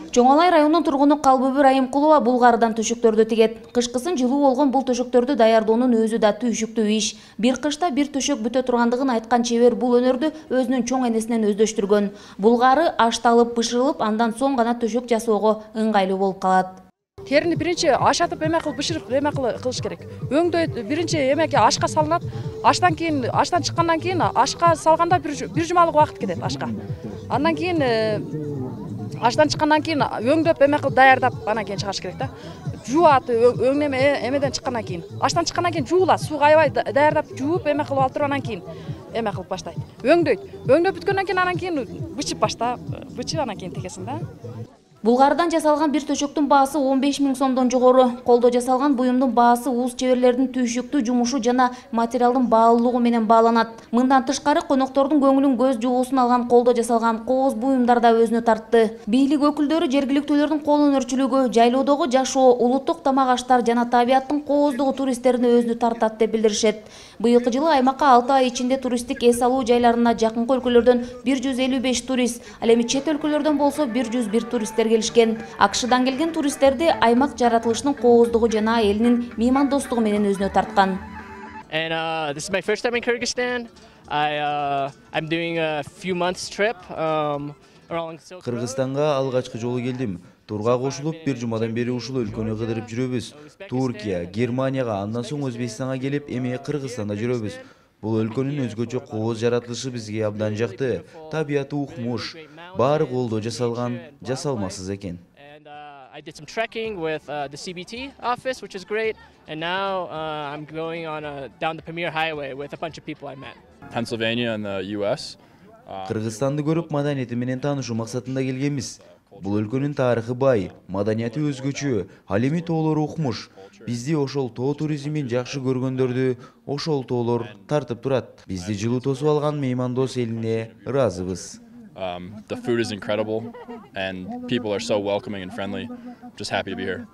Чоң Алай районунун тургуну Калбүбү Райымкулова булгарыдан төшөктөрдү тигет. Кышкысын жылуу болгон бул төшөктөрдү даярдоонун өзү да түйшүктүү иш. Бир кышта бир төшөк бүтө тургандыгын айткан чебер бул өнөрдү өзүнүн чоң энесинен өздөштүргөн. Булгары ашталып, бышырылып, андан соң гана төшөк жасоого ыңгайлуу болуп калат. Терини биринчи ашатып эме кылып бышырып эме кылыш керек. Өңдөйт, биринчи эмеке ашка салынат. Аштан кийин, аштан чыккандан кийин ашка салганда бир жумалык убакыт кетет ашка. Андан кийин аштан чыккандан кийин өңдөп эме кылып даярдап анан кийин чыгаш керек да. Жуат өңнеме эмеден чыккандан кийин. Аштан чыккандан кийин жуулат, сууга аябай даярдап жууп эме кылып алып туруп анан кийин эме кылып баштайт. Өңдөйт. Өңдөп бүткөндөн кийин анан кийин бычып баштап, бычып анан кийин тегесин да. Булгардан жасалган бир төшөктүн баасы он беш миң сомдон жогору. Колдо жасалган буюмдун баасы уус чеберлердин түйшүктүү жумушу жана материалдын баалуулугу менен бааланат. Мындан тышкары коноктордун көңүлүн көз жугуусун алган колдо жасалган кооз буюмдар да өзүнө тартты. Бийлик өкүлдөрү жергиликтүүлөрдүн кол өнөрчүлүгү, жайлоодогу жашоо, улуттук тамак аштар жана табияттын кооздугу туристтерди өзүнө тартат деп билдиришет. Быйылкы жылы аймакка алты ай ичинде туристтик эс алуу жайларына жакынкы өлкөлөрдөн бир жүз элүү беш турист, ал эми чет өлкөлөрдөн болсо бир жүз бир туристтер келишкен. Акшдан келген туристтерди аймак жаратылышынын кооздугу жана элинин меймандостугу менен өзүнө тарткан. And uh, this is my first time in Kyrgyzstan. I uh, I'm doing a few months trip um, along Silk Road. Кыргызстанга алгачкы жолу келдим. Турга кошулуп, бир жумадан бери ушул өлкөнү кыдырып жүрөбүз. Туркия, Германияга, андан соң Өзбекстанга келип, эми Кыргызстанда жүрөбүз. Бул өлкөнүн өзгөчө кооз жаратылышы бизге абдан жакты. Табияты укмуш, баары колдо жасалган, жасалмасыз экен. I did some trekking with uh, the C B T office, which is great, and now uh, I'm going on a, down the Pamir Highway with a bunch of people I met. Pennsylvania in the U S. Кыргызстанды көрүп, маданияты менен таанышуу максатында келгенбиз. Бул өлкөнүн тарыхы бай, маданияты өзгөчө, ал эми тоолору укмуш. Бизди ошол тоо туризмин жакшы көргөндөрдү ошол тоолор тартып турат. Бизди жылуу тосуп алган меймандос элине ыраазыбыз. Um, the food is incredible and people are so welcoming and friendly. Just happy to be here.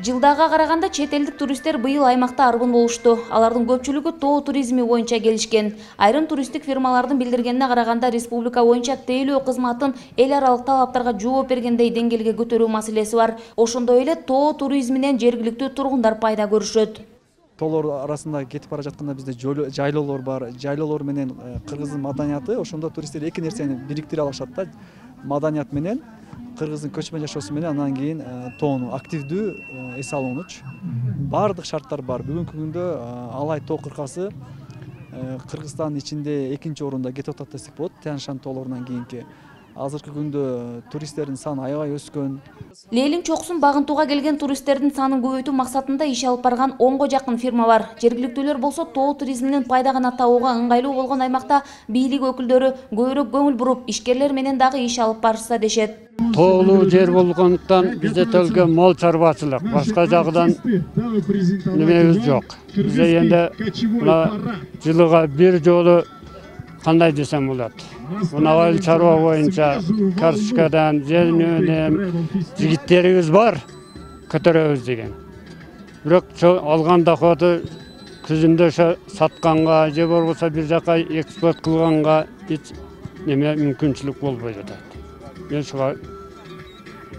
Жылдага караганда чет элдик туристтер быйыл аймакта арбын болушту. Алардын көпчүлүгү тоо туризми боюнча келишкен. Айрым туристтик фирмалардын билдиргенине караганда республика боюнча тейлөө кызматын эл аралык талаптарга жооп бергендей деңгээлге көтөрүү маселеси бар. Ошондой эле тоо туризминен жергиликтүү тургундар пайда көрүшөт. Тоолор арасында кетип бара жатканда бизде жайлоолор бар. Жайлоолор менен кыргыздын маданияты, ошондо туристтер эки нерсени бириктире алышат да. Маданият менен кыргыздын көчмөн жашоосу менен анан кийин тоону активдүү эс алуунучу баардык шарттар бар. Бүгүнкү күндө Алай тоо кыркасы Кыргызстандын ичинде экинчи орунда кетип атат десек болот. Тянь-Шань тоолорунан кийинки. Азыркы күндө туристтердин саны аябай өскөн. Лейлин чокусун багынтууга келген туристтердин санын көбөйтүү максатында иш алып барган онго жакын фирма бар. Жергиликтүүлөр болсо тоо туризминин пайда гана табууга ыңгайлуу болгон аймакта бийлик өкүлдөрү көбүрөөк көңүл буруп, ишкерлер менен дагы иш алып барышса дешет. Тоолуу жер болгондуктан бизде төлгө мол чарбачылык, башка жагдан немебиз жок. Бизде энди мына жылыга бир жолу кандай десем болот. Мына чарба боюнча карточкадан жөнүнөн жигиттерибиз бар, көтөрөбүз деген. Бирок алган доходу күзүндө сатканга же болбосо бир жака экспорт кылганга эч неме мүмкүнчүлүк болбой жатат. Мен шуга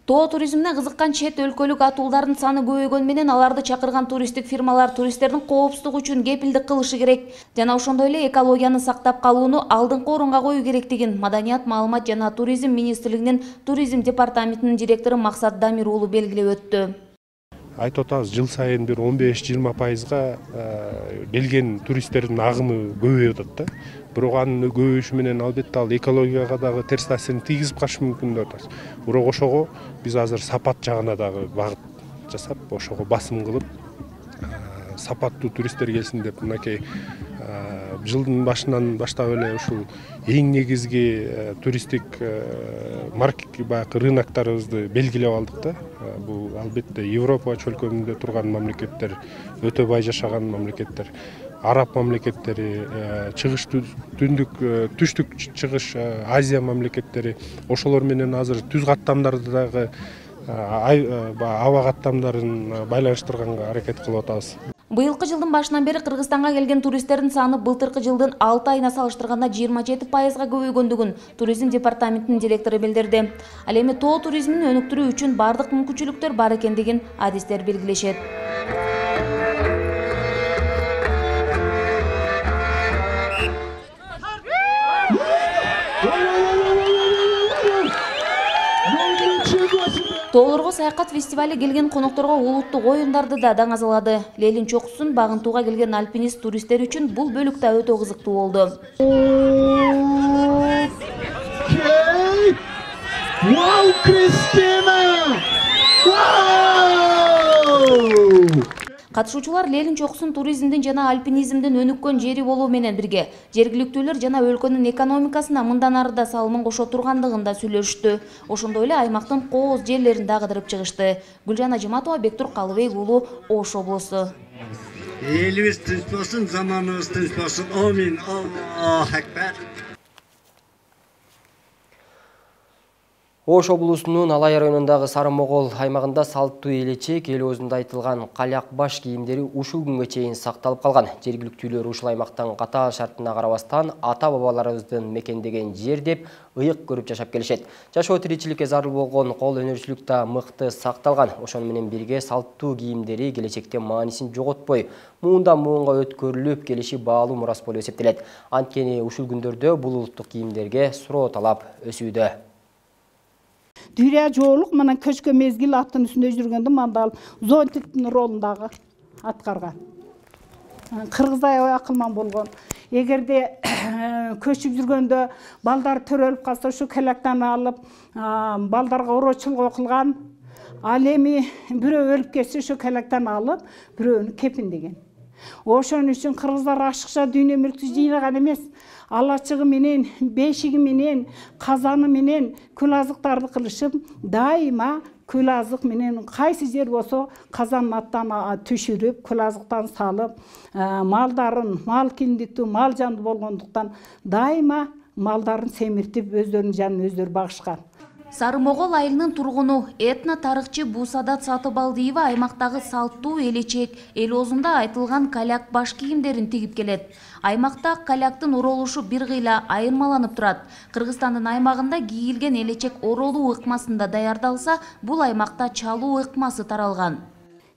Тоо туризмине кызыккан чет өлкөлүк атуулдардын саны көбөйгөнү менен аларды чакырган туристтик фирмалар туристтердин коопсуздугу үчүн кепилдик кылышы керек жана ошондой эле экологияны сактап калууну алдыңкы орунга коюу керектигин Маданият, маалымат жана туризм министрлигинин туризм департаментинин директору Максат Дамир уулу белгилеп өттү. Айтып атабыз, жыл сайын бир он беш жыйырма пайызга келген туристтердин агымы көбөйүп атат да. Бирок анын көбөйүшү менен албетте ал экологияга дагы терс таасирин тийгизип калышы мүмкүн деп атабыз. Бирок ошого биз азыр сапат жагына дагы багыт жасап, ошого басым кылып, сапаттуу туристтер келсин деп мынакей жылдын башынан баштап эле ушул эң негизги туристтик маркет рыноктарыбызды белгилеп алдык да. Бул албетте Европа чөлкөмүндө турган мамлекеттер, өтө бай жашаган мамлекеттер, араб мамлекеттери, чыгыш түндүк, түштүк чыгыш Азия мамлекеттери, ошолор менен азыр түз каттамдарды дагы аба каттамдарын байланыштырганга аракет кылып атабыз. Быйылкы жылдын башынан бери Кыргызстанга келген туристтердин саны былтыркы жылдын алты айына салыштырганда жыйырма жети пайызга көбөйгөндүгүн туризм департаментинин директору билдирди. Ал эми тоо туризмин өнүктүрүү үчүн бардык мүмкүнчүлүктөр бар экендигин адистер белгилешет. Тоолорго саякат фестивали келген конокторго улуттук оюндарды да даңазалады. Лейлин чокусун багынтууга келген альпинист туристтер үчүн бул бөлүк да өтө кызыктуу болду. Катышуучулар Лелин чокусун туризмдин жана альпинизмдин өнүккөн жери болуу менен бирге жергиликтүүлөр жана өлкөнүн экономикасына мындан ары да салымын кошо тургандыгын да сүйлөштү. Ошондой эле аймактын кооз жерлерин да кыдырып чыгышты. Гүлжан Ажыматова, Бектур Калыбек уулу, Ош облусу. Элибиз тынч болсун, заманыбыз тынч болсун. Амин. Аллаху акбар. Ош облусунун Алай районундагы Сары-Могол аймагында салттуу элечек эл өзүндө айтылган калак баш кийимдери ушул күнгө чейин сакталып калган. Жергиликтүүлөр ушул аймактан катаал шартына карабастан ата-бабаларыбыздын мекендеген жер деп ыйык көрүп жашап келишет. Жашоо тиричиликке зарыл болгон кол өнөрчүлүк да мыкты сакталган. Ошону менен бирге салттуу кийимдери келечекте маанисин жоготпой, муундан муунга өткөрүлүп келиши баалуу мурас болуп эсептелет. Анткени ушул күндөрдө бул улуттук кийимдерге суроо талап өсүүдө. Дүйрө жоолук мына көчкө мезгил аттын үстүндө жүргөндө мандал зонтиктин ролундагы аткарган. Кыргыздай акылман болгон. Эгерде көчүп жүргөндө балдар төрөлүп калса ушу калактан алып балдарга ороочулук кылган. Ал эми бирөө өлүп кетсе ушу калактан алып бирөөнү кепиндеген. Ошон үчүн кыргыздар ашыкча дүйнө мүлктү жыйнаган эмес. Алачыгы менен, бешиги менен, казаны менен күл азыктарды кылышып, дайыма күл азык менен кайсы жер болсо казан аттан түшүрүп, күл азыктан салып, малдарын, мал киндиктүү, мал жанды болгондуктан дайыма малдарын семиртип, өздөрүнүн жанын өздөрү багышкан. Сары-Могол айылынын тургуну этно тарыхчы Бусадат Сатыбалдиева аймактагы салттуу элечек эл оозунда айтылган каляк баш кийимдерин тигип келет. Аймакта каляктын оролушу бир кыйла айырмаланып турат. Кыргызстандын аймагында кийилген элечек оролуу ыкмасында даярдалса, бул аймакта чалуу ыкмасы таралган.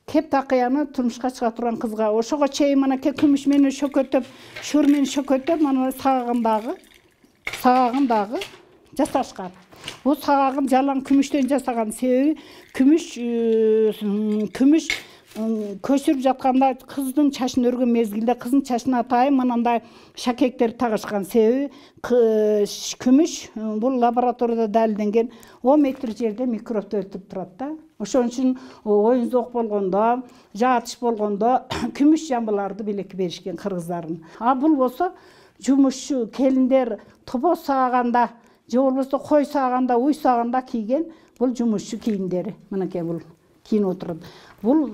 Кеп такыяны турмушка чыга турган кызга ошого чейин манакей күмүш менен шөкөтөп, шөр менен шөкөтөп, мана сагагындагы, сагагындагы жасашкан. Бул сагагын жалаң күмүштөн жасаган, себеби күмүш күмүш көчүрүп жатканда кыздын чачын өргөн мезгилде кыздын чачына атайын мынандай шакектер тагышкан, себеби күмүш бул лабораторияда далилденген он метр жерде микробду өлтүрүп турат да. Ошон үчүн оюнзок болгондо, жаатыш болгондо күмүш жамбыларды белекке беришкен кыргыздардын. А бул болсо жумушчу келиндер топоз сааганда же болбосо кой сааганда, уй сааганда кийген бул жумушчу кийимдери. Мынакей бул кийинип отурат. Бул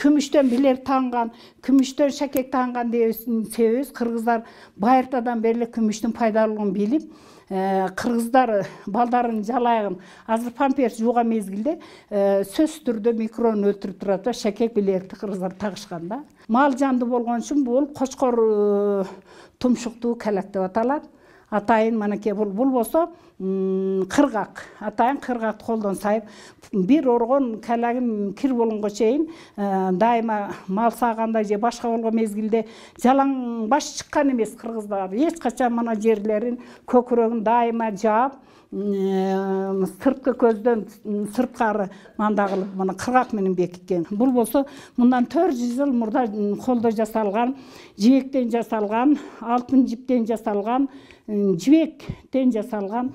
күмүштөн билер танган, күмүштөн шакек танган дебесин себебибиз кыргыздар байыртадан бери күмүштүн пайдалуулугун билип, кыргыздар балдарын жалайын азыр памперс жууган мезгилде сөзсүз түрдө микробун өлтүрүп турат да, шакек билерди кыргыздар тагышкан да. Мал жанды болгон үчүн бул кочкор тумшуктуу калак деп аталат. Атайын манакей бул бул болсо кыргак. Атайын кыргакты колдон сайып, бир оргон калагын кир болгонго чейин дайыма мал сааганда же башка болгон мезгилде жалаң баш чыккан эмес кыргыздар. Эч качан мана жерлерин, көкүрөгүн дайыма жаап, сырткы көздөн сырткары мында кылып мына кыргак менен бекиткен. Бул болсо мындан төрт жүз жыл мурда колдо жасалган, жибектен жасалган, алтын жиптен жасалган, жибектен жасалган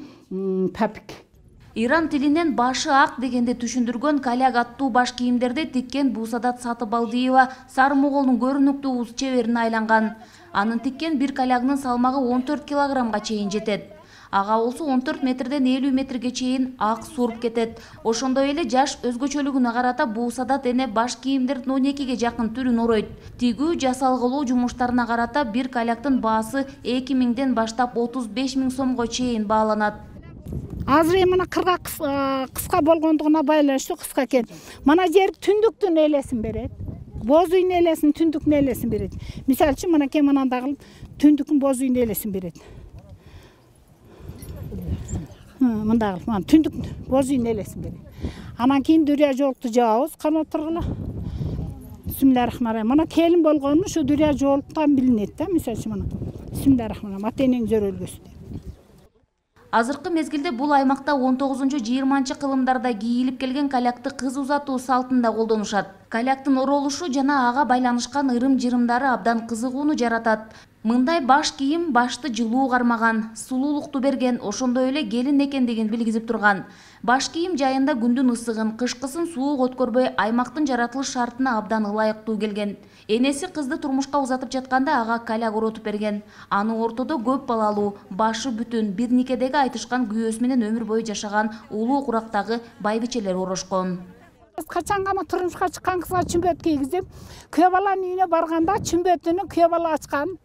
папик. Иран тилинен башы ак дегенде түшүндүргөн каляк аттуу баш кийимдерди тиккен Бусадат Сатыбалдиева Сары-Моголдун көрүнүктүү уз чеберине айланган. Анын тиккен бир калягынын салмагы он төрт килограммга чейин жетет. Ага болсо он төрт метрден элүү метрге чейин ак суруп кетет. Ошондой эле жаш өзгөчөлүгүнө карата Бусадат эне баш кийимдердин он экиге жакын түрүн оройт. Тигүү, жасалгылоо жумуштарына карата бир каляктын баасы эки миңден баштап отуз беш миң сомго чейин бааланат. Азыр эми мына кыргак кыска болгондугуна байланыштуу кыска экен. Мана жер түндүктүн элесин берет. Боз үйдүн элесин, түндүктүн элесин берет. Мисалы үчүн мынакей мындай кылып түндүктүн боз үйдүн элесин берет. Мындай кылып, мына түндүк боз үйдүн элесин берет. Анан кийин дүрия жоолукту жаабыз канаттыргыла. Бисмиллахиррахманиррахим. Мына келин болгону ушу дүрия жоолуктан билинет да, мисалы үчүн мына. Бисмиллахиррахманиррахим. Ата-энең зөрөлгөсү деп. Азыркы мезгилде бул аймакта он тогузунчу жыйырманчы кылымдарда кийилип келген калякты кыз узатуу салтында колдонушат. Каляктын оролушу жана ага байланышкан ырым-жырымдары абдан кызыгууну жаратат. Мындай баш кийим башты жылуу кармаган, сулуулукту берген, ошондой эле келин экендигин билгизип турган. Баш кийим жайында күндүн ысыгын, кышкысын суук өткөрбөй, аймактын жаратылыш шартына абдан ылайыктуу келген. Энеси кызды турмушка узатып жатканда ага каляк оротуп берген. Аны ортодо көп балалуу, башы бүтүн, бир никедеги айтышкан күйөөсү менен өмүр бою жашаган улуу курактагы байбичелер орошкон. Качан гана турмушка чыккан кызга чүмбөт кийгизип, күйөө баланын үйүнө барганда чүмбөтүнү күйөө бала ачкан.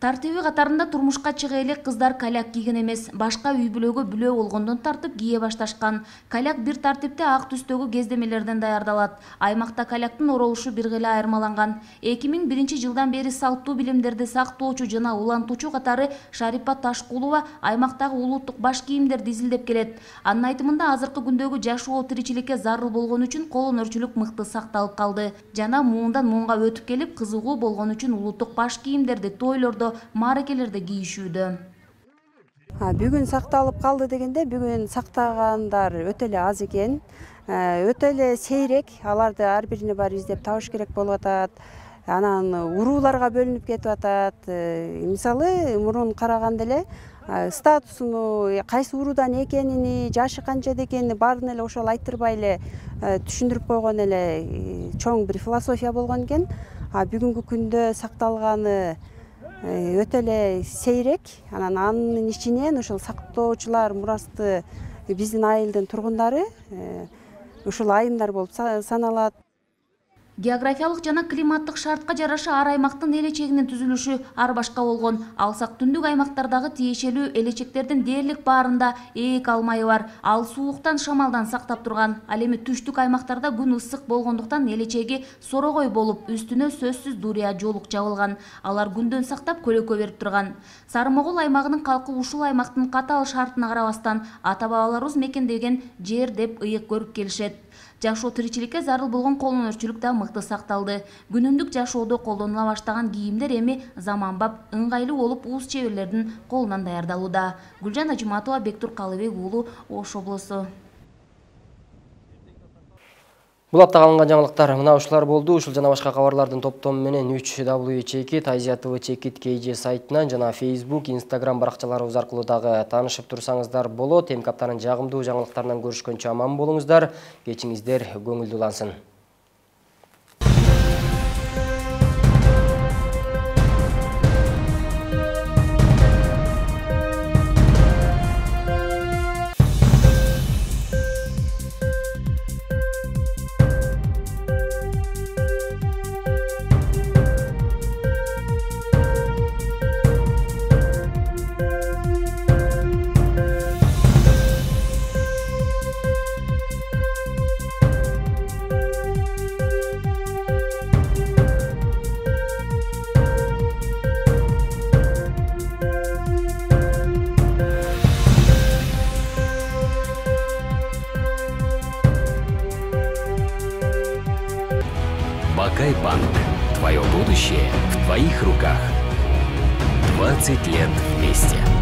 Тартиби катарында турмушка чыга элек кыздар каляк кийген эмес, башка үй бүлөгө бүлө болгондон тартып кие башташкан. Каляк бир тартипте ак түстөгү кездемелерден даярдалат. Аймакта каляктын оролушу бир гыйла айырмаланган. эки миң биринчи жылдан бери салттуу билимдерди сактоочу жана улантуучу катары Шарипа Ташкулова аймактагы улуттук баш кийимдерди изилдеп келет. Анын айтымында азыркы күндөгү жашоо тиричиликке зарыл болгон үчүн кол өнөрчүлүк мыкты сакталып калды. Жана муундан муунга өтүп келип, кызыгуу болгон үчүн улуттук баш кийимдерди тойлордо, мааракелерде кийишүүдө. Бүгүн сакталып калды дегенде, бүгүн сактагандар өтө эле аз экен. Өтө эле сейрек, аларды ар бирине барып издеп табыш керек болуп атат. Анан урууларга бөлүнүп кетип атат. Мисалы, мурун караганда эле статусуну, кайсы уруудан экенини, жашы канча экенин баарын эле ошол айттырбай эле түшүндүрүп койгон эле чоң бир философия болгон экен. Бүгүнкү күндө сакталганы өтө эле сейрек. Анан анын ичинен ошол сактоочулар мурасты биздин айылдын тургундары ушул айымдар болуп саналат. Географиялык жана климаттык шартка жараша ар аймактын элечегинин түзүлүшү ар башка болгон. Алсак түндүк аймактардагы тиешелүү элечектердин дээрлик баарында ээк алмайы бар. Ал сууктан, шамалдан сактап турган. Ал эми түштүк аймактарда күн ысык болгондуктан элечеги сорогой болуп, үстүнө сөзсүз дурия жолук жабылган. Алар күндөн сактап көлөкө берип турган. Сары Могол аймагынын калкы ушул аймактын катаал шартына карабастан ата бабаларыбыз мекендеген жер деп ыйык көрүп келишет. Жашоо тиричиликке зарыл болгон кол өнөрчүлүк да мыкты сакталды. Күнүмдүк жашоодо колдонула баштаган кийимдер эми заманбап, ыңгайлуу болуп уус чеберлердин колунан даярдалууда. Гүлжан Ажыматова, Бектур Калыбек уулу, Ош облусу. Бул аптага алынган жаңылыктар мына ушулар болду. Ушул жана башка кабарлардын топтому менен үч дабл ю чекит, Азия ТВ чекит кей же сайтынан жана Facebook, Instagram баракчаларыбыз аркылуу дагы таанышып турсаңыздар болот. Эми аптанын жагымдуу жаңылыктарынан көрүшкөнчө аман болуңуздар. Кечиңиздер көңүлдүү улансын. Бакай-банк. Твое будущее в твоих руках. двадцать лет вместе.